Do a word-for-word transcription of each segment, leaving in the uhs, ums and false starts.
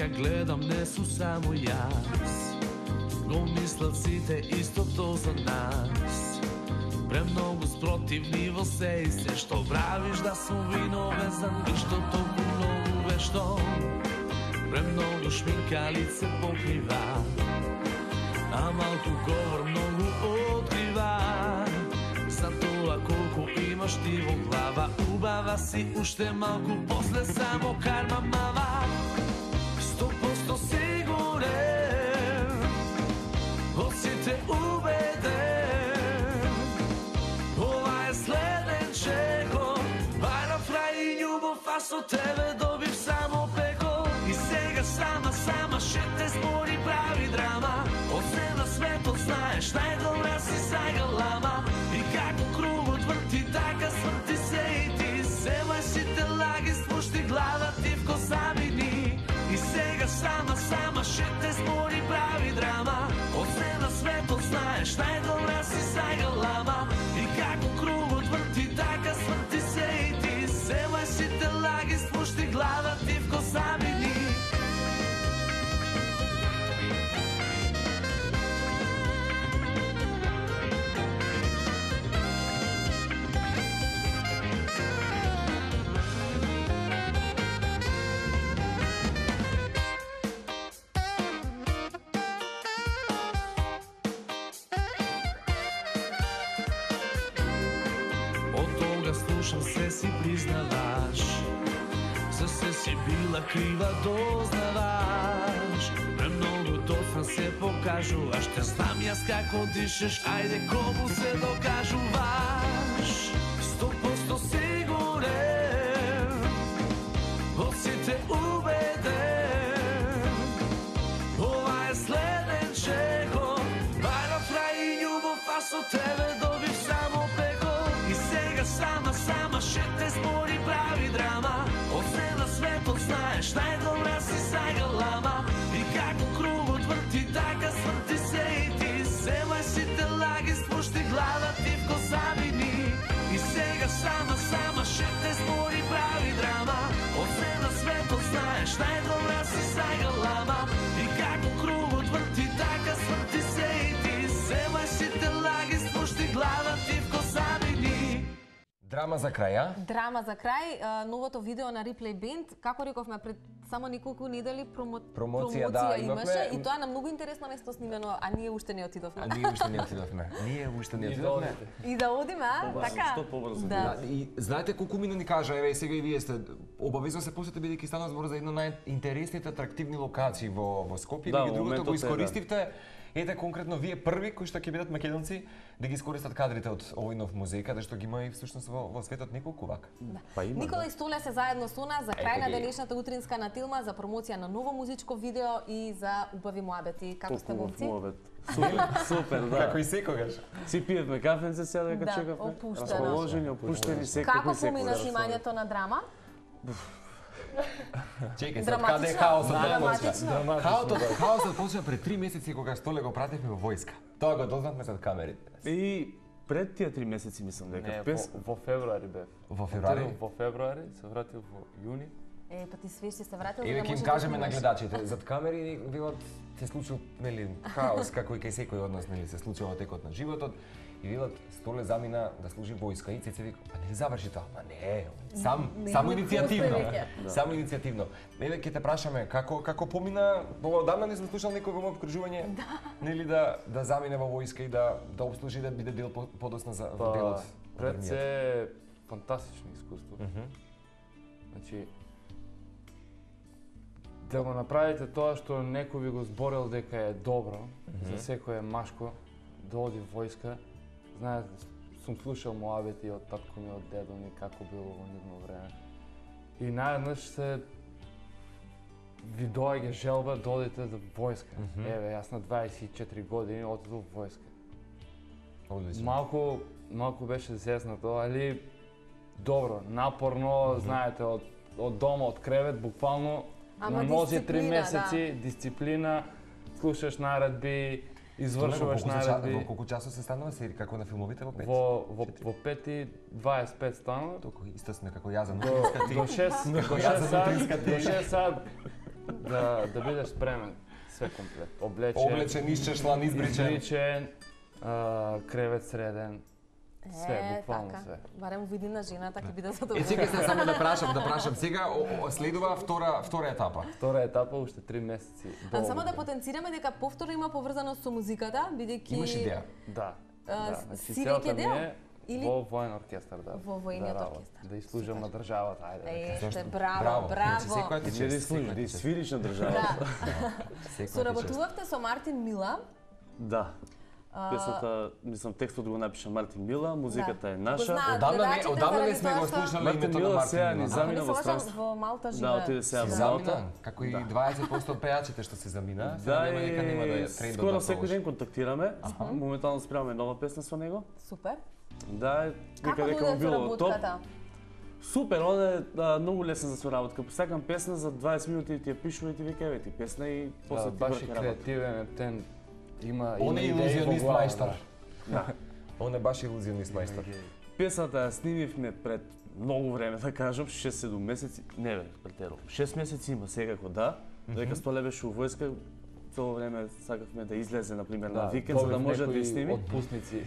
Сега гледам, не су само јас, го мислат сите истото за нас. Премногу спротивни во се и се што правиш да сум виновезан, ништо толку многу вешто. Премногу шминка лице покрива, а малку говор многу открива. За тоа колку имаш ти во глава, убава си уште малку, после само карма мава. Сто посто сигурен, од сите убеден, ова е следен чекор, бајрав рај и љубов, а со тебе добив само пекор. И сега сама, сама ше те збори прави драма, од се на светот знаеш, најдобра си загалама. И како кругот врти, така сврти се и ти, земај сите лаги, спушти глава ти в косамини. И сега сама, сама ше те збори прави драма, од се на светот знаеш, најдобра си загалама. И како кругот врти, така сврти се и ти, земај сите лаги, спушти глава ти в косамини. Слушам се си признаваш, за се си била крива дознаваш. Премногу доцна се покажуваш, те знам јас како дишеш, ајде кому се докажуваш. Сто посто сигурен, од сите убеден, ова е следен чекор, бајрав рај и љубов, а со тебе добив само пекор. И сега сама, сама ше те збори прави драма, од се на светот знаеш, најдобра си загалама. И како кругот врти, така сврти се и ти, земај сите лаги, спушти глава ти в косамини. И сега сама, сама ше те збори прави драма, од се на светот знаеш, најдобра си загалама. И како кругот врти, така сврти се и ти, земај сите лаги, спушти глава ти в косамини. Драма за крај, а? Драма за крај, а, новото видео на Replay Band, како рековме пред само неколку недели промо... Промоција, промоција да, имаше имавме... и тоа на многу интересно место снимено, а ние уште не отидовме. А ние уште не отидовме. Ние уште не отидовме. И да одиме, а? Така? Што побрзо. Да. И знаете колку мина ни кажа, еве сега и вие сте обавезно се посете бидејќи стана збор за една најинтересните атрактивни локации во во Скопје, Да, и другото моментот го е, искористивте. Ете конкретно вие први кои што ќе бидат македонци да ги искористат кадрите од овој нов музеј, каде што ги има и всушност во, во светот неколку вака. Да. Па има, Никола да. и Столе се заедно со нас за крај Ете на ги. денешната утринска натилма за промоција на ново музичко видео и за убави муабети. Како сте момци? Супер, супер, да. Како и секогаш. Си пиевме кафенце сега дека Да, чекавме. опуштено. Расположени, опуштени секој Како секој. помина снимањето на драма? Чекај, сад Драматично? каде е хаосот да Драматично? почна? Хаосот, хаосот почна пред три месеци кога Столе го пратевме во војска. Тоа го дознавме зад камерите. И пред тие три месеци мислам дека Не, пес... во, во февруари бев. Во февруари? Отидов во февруари, се вратив во јуни. Е, па ти свеж си се вратил, Еве да ќе им можеш кажеме да на снимаш. гледачите, зад камери било се случил нели хаос како и кај секој од нас нели се случува во текот на животот. И велат Столе замина да служи војска и Цеце вика, па нели заврши тоа? Ма не, сам Не, само не иницијативно. веќе. Само иницијативно. Еве ќе те прашаме како како помина, во одамна не сум слушал некој во моето окружување, нели да да замине во војска и да да обслужи да биде дел по- подосна за Па, делот. пред од се фантастично искуство. Мгм. Значи, да го направите тоа што некој ви го зборел дека е добро, за секој е машко, да оди војска. Знаете, сум слушал муабети од татко ми, од дедо ми, како било во нивно време. И наједнаш се ви доаѓа желба да одите до војска. Мгм. Еве, јас на дваесет и четири години отидов во војска. Одлично. Малку, малку беше зезнато, али добро, напорно, знаете, од, од дома, од кревет, буквално Ама на нозе три дисциплина, месеци, дисциплина, слушаш наредби, извршуваш Во колку ча- наредби. Во колку часот се станува сери како на филмовите во пет? Во, во, во пети дваесет и пет станува. Толку исто сме како ја за До, нутринска ти. до шест, до Како ја шест за сат, нутринска ти. до шест сат да да бидеш спремен све комплет. Облечен, Облечен, исчешлан, избричен. избричен, а, кревет среден. Све, Е, буквално така. све. Барем во иднина жената ќе биде Е, задоволена. чекай се само да прашам, да прашам сега, о, о, следува втора втора етапа. Втора етапа уште три месеци. А до само да година. потенцираме дека повторно има поврзаност со музиката, бидејќи Имаш идеја? Да. А, да. с- Значи, си целта веќе ми дел? е Или- во воен оркестар, да. Во војниот да работам, оркестар. Да изслужам на државата, ајде. да Е, Зашто? сте браво, браво. Значи, секоја ти Не да чест, служи, секоја да ти чест. свириш на држава. Да. Секоја ти чест. Соработувавте со Мартин Мила. Да. Песната, мислам, текстот го напиша Мартин Мила, музиката е Го наша. знаат Одамна не, гледачите одамна не заради сме тоа го што- слушнале Мартин името на Мила Мартин сега ни Мила. Ако замина не во се лажам, странство. во Малта Да, живее. отиде сега Се во замина, Малта. како и Да. дваесет проценти од пејачите што се замина, сега Да, нема дека нема да и е трендот скоро да секој продолжи. ден контактираме. Моментално спремаме нова песна со него. Супер. Да, Како дека дека му дојде било топ. соработката? Супер, он е а, многу лесен за соработка. Посакам песна за дваесет минути ти ја пишува и ти вика еве ти песна и после Да, ти баш е врхи работа. креативен, тен има Он има е идеи во илузионист глава, мајстор. Да. Он е баш илузионист мајстор. Песната ја снимивме пред многу време, да кажам, шест-седум месеци, не бе, претерувам. шест месеци има секако, да. Додека Столе беше у војска, цело време сакавме да излезе, например, на викенд, за да добив може да некои ја сними. Отпусници.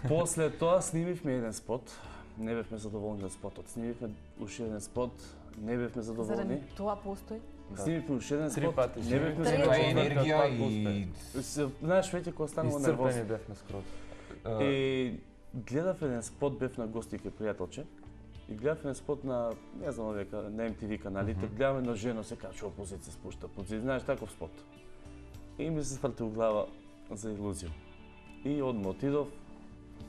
После тоа снимивме еден спот. Не бевме задоволни од спотот. Снимивме уште еден спот, не бевме задоволни. Заради тоа постои. Снимивме уште еден Три спот, пати не снимивме. бевме Три Тоа е задоволни. енергија и... Се- Знаеш, веќе кога станува Исцрпени нервозно. бевме скроз. И гледав еден спот, бев на гости кај пријателче. И гледав еден спот на, не знам овие, ка- на Ем Ти Ви каналите, гледам една жена се качува по зид, се спушта по зид, знаеш таков спот. И ми се сврти у глава за илузија. И одма отидов,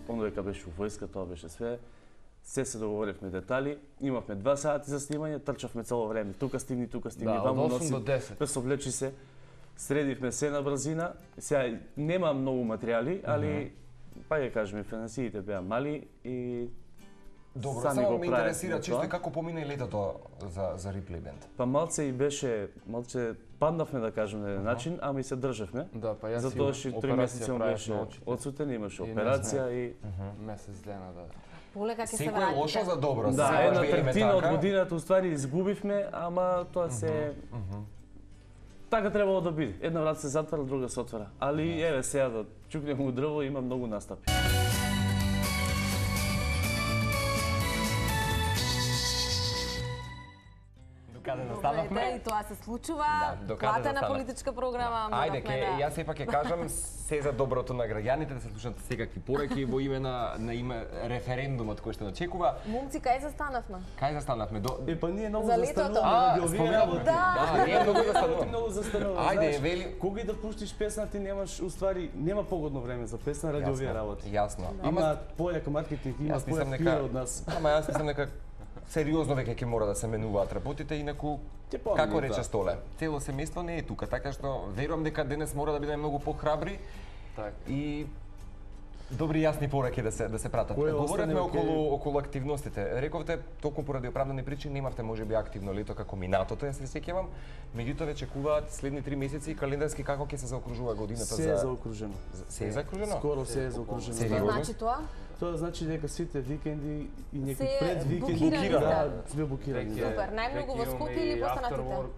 оно дека беше у војска, тоа беше све. Се се договоривме детали, имавме два сати за снимање, трчавме цело време, тука стигни, тука стигни, Да, ваму од осум носи, до десет. да се облечи се. Средивме се на брзина. Сега нема многу материјали, али па ја кажеме, финансиите беа мали и Добро, сами само го ме правевме интересира чисто тоа. и како помина и летото за за Replay Band. Па малце и беше, малце паднавме да кажеме на еден начин, ама и се државме. Да, па јас Затоа што три месеци он правев беше на очите. одсутен, имаше И не операција и Месец дена, да. Полека ќе се Секој е лошо вратите. за добро. да, сега една живееме третина од така. годината уствари изгубивме, ама тоа се така требало да биде. Една врата се затвара, друга се отвара. Али еве сега да чукнеме у дрво, има многу настапи. Докаде Добре, застанавме? и тоа се случува. Да, докаде Платена застанав? политичка програма. Ајде, моравме ке, да- јас сепак ќе кажам се за доброто на граѓаните, да се слушнат секакви пораки во име на, на име референдумот кој што очекува. Момци, кај застанавме? Кај застанавме? До... Е, па ние многу За летото. застануваме А, ради овие споменавме. работи. Да. Да, ние многу Работи застануваме. многу застануваме. Ајде, знаеш. вели- Кога и да пуштиш песна, ти немаш, уствари, нема погодно време за песна ради овие работи. Јасно. Има појак маркетинг, има Јас мислам појак дека пиар од нас. Ама јас мислам дека сериозно веќе ќе мора да се менуваат работите, инаку Ќе помни, како да. рече Столе, цело семејство не е тука, така што верувам дека денес мора да бидеме многу похрабри Така. и добри јасни пораки да се да се пратат. Кој Говоревме остане околу околу активностите. Рековте толку поради оправдани причини немавте можеби активно лето како минатото, јас се сеќавам. Меѓутоа ве чекуваат следни три месеци календарски како ќе се заокружува годината Се за е заокружено. за- се е закружено? Скоро се е заокружено. Се Што е Да. значи тоа? Тоа значи дека сите викенди и некои Се пред викенди букирани, да, да. све букирани. Веќе- Да. Супер, најмногу во веќе Скопје имаме или и постанатите? afterwork,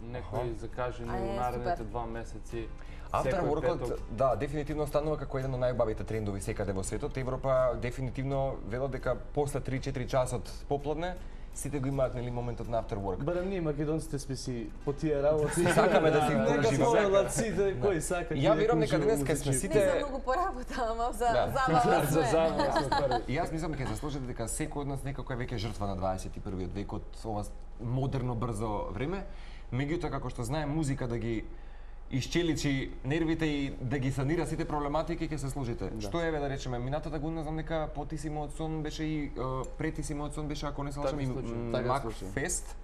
Некои закажани А, е, во наредните супер. два месеци. After Секој workот, петок. да, дефинитивно станува како еден од најубавите трендови секаде во светот. Европа дефинитивно велат дека после три-четири часот попладне сите го имаат нели моментот на after work. Барем ние македонците сме си по тие работи. Сакаме да си Нека уживаме. повелат сите, кој сака. Ја ќе верувам дека ужива денес кај сме музички. сите- Не за многу поработа, ама за Да. забава За сме. забава сме први. И јас мислам дека се сложите дека секој од нас некако е веќе жртва на дваесет и првиот век од ова модерно брзо време. Меѓутоа како што знае музика да ги исчеличи нервите и да ги санира сите проблематики, ќе се сложите. Да. Што еве да речеме, минатата година знам дека потисимо од сон беше и е, претисимо од сон беше, ако не се лажам, Така и случај, м, така Мак случај. Фест.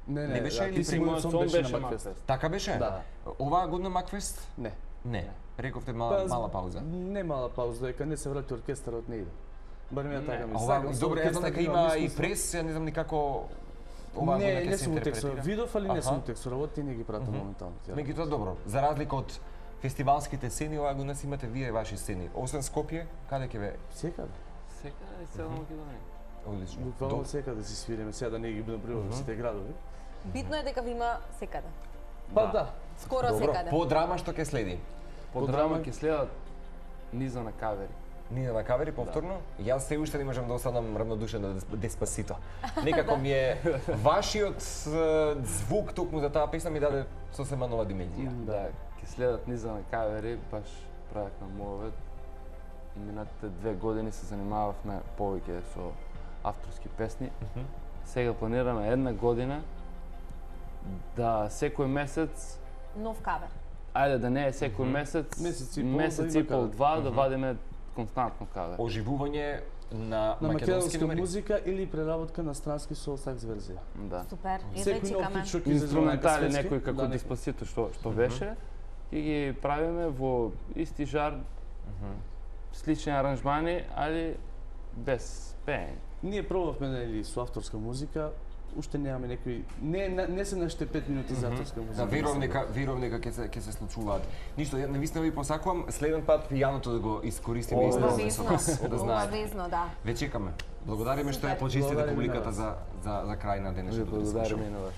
Не, Не не, беше да, или ти си при мојот Сон сон беше беше на Макфест. Макфест. Така беше? Да. Оваа година Макфест? Не. Не. Рековте мала, Па, мала пауза. Не мала пауза, дека не се врати оркестарот не иде. Барем ја така А мислам. ова, Сакам со добро, јас знам оркестар дека да има имам и искуство. прес, ја не знам ни како оваа година Не, ќе не се сум го текстувал. интерпретира. Видов, али не сум Аха. го текстувал, ти не ги пратам моментално. тие Меѓутоа добро, за разлика од фестивалските сцени, оваа година си имате вие ваши сцени. Освен Скопје, каде ќе ве? Секаде. Секаде и цела Македонија. Одлично. Буквално Доб- секаде си свириме, сега да не ги набројувам сите градови. Битно е дека ви има секаде. Па да. Скоро Добро, секаде. по драма што ќе следи? По драма ќе следат Низа на кавери. Нина на кавери повторно. Да. Јас се уште не можам да останам равнодушен на Деспасито. Некако ми е вашиот е, звук токму за таа песна ми даде сосема нова димензија. Да, ќе следат Низа на кавери, баш правев на мовет. Минатите две години се занимавав на повеќе со авторски песни. Mm -hmm. Сега планираме една година да секој месец, Нов кавер. ајде да не е секој Мгм. месец, Месец и пол месец да и има пол, кавер. два да Мгм. вадиме константно кавер. Оживување на, На македонски македонска номери. музика или преработка на странски со сакс верзија. Да. Супер. Едва Секој нов чекаме. хит што ќе излезе на Инструментали светски, некои како да, Деспасито што што беше, ќе ги правиме во исти жар, слични аранжмани, али без пеење. Ние пробавме нели со авторска музика, уште немаме некои не не, не се наште пет минути за авторска музика. Да, верувам дека верувам дека ќе се ќе се случуваат. Ништо, ја навистина ви посакувам следен пат пијаното да го искористиме О, исто Обавезно. со вас, да знаете. Обавезно, да. Ве чекаме. Благодариме што ја Супер. почистите Благодариме на публиката вас. за за за крај на Ви денешното благодариме дискушн. и на вас.